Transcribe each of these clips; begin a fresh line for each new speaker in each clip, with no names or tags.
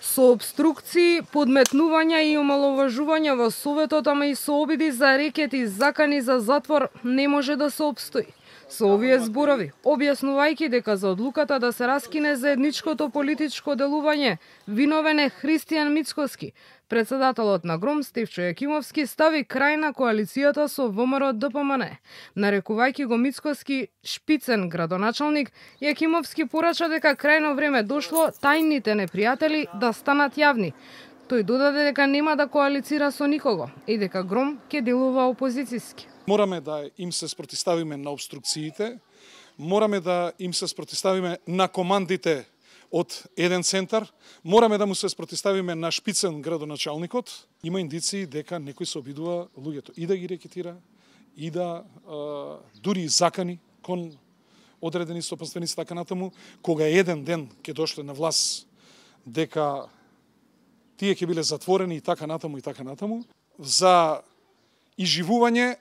Со обструкции, подметнувања и омаловажувања во Советот, ама и со обиди за рекет и закани за затвор, не може да се опстои. Со овие зборови, објаснувајќи дека за одлуката да се раскине заедничкото политичко делување виновен е Христијан Мицкоски, председателот на ГРОМ Стефчо Јакимовски стави крај на коалицијата со ВМРО ДПМН. Нарекувајќи го Мицкоски шпицен градоначалник, Јакимовски порача дека крајно време дошло тајните непријатели да станат јавни. Тој додаде дека нема да коалицира со никого и дека ГРОМ ќе делува опозицијски.
Мораме да им се спротивставиме на обструкциите, мораме да им се спротивставиме на командите од еден центар, мораме да му се спротивставиме на шпицен градоначалникот. Има индиции дека некој се обидува луѓето и да ги рекетира, и да дури закани кон одредени сопанственици така натаму, кога еден ден ќе дошле на власт дека тие ќе биле затворени и така натаму. За изживување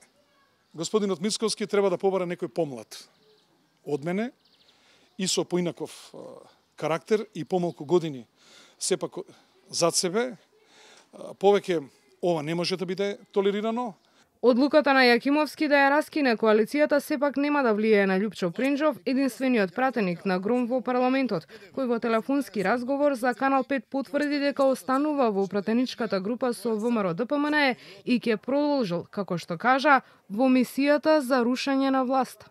господинот Мицкоски треба да побара некој помлад од мене и со поинаков карактер и помалку години сепак зад себе. Повеќе ова не може да биде толерирано.
Одлуката на Јакимовски да ја раскине коалицијата сепак нема да влијае на Љупчо Пренџов, единствениот пратеник на ГРОМ во парламентот, кој во телефонски разговор за Канал 5 потврди дека останува во пратеничката група со ВМРО ДПМН и ќе продолжил, како што кажа, во мисијата за рушење на власта.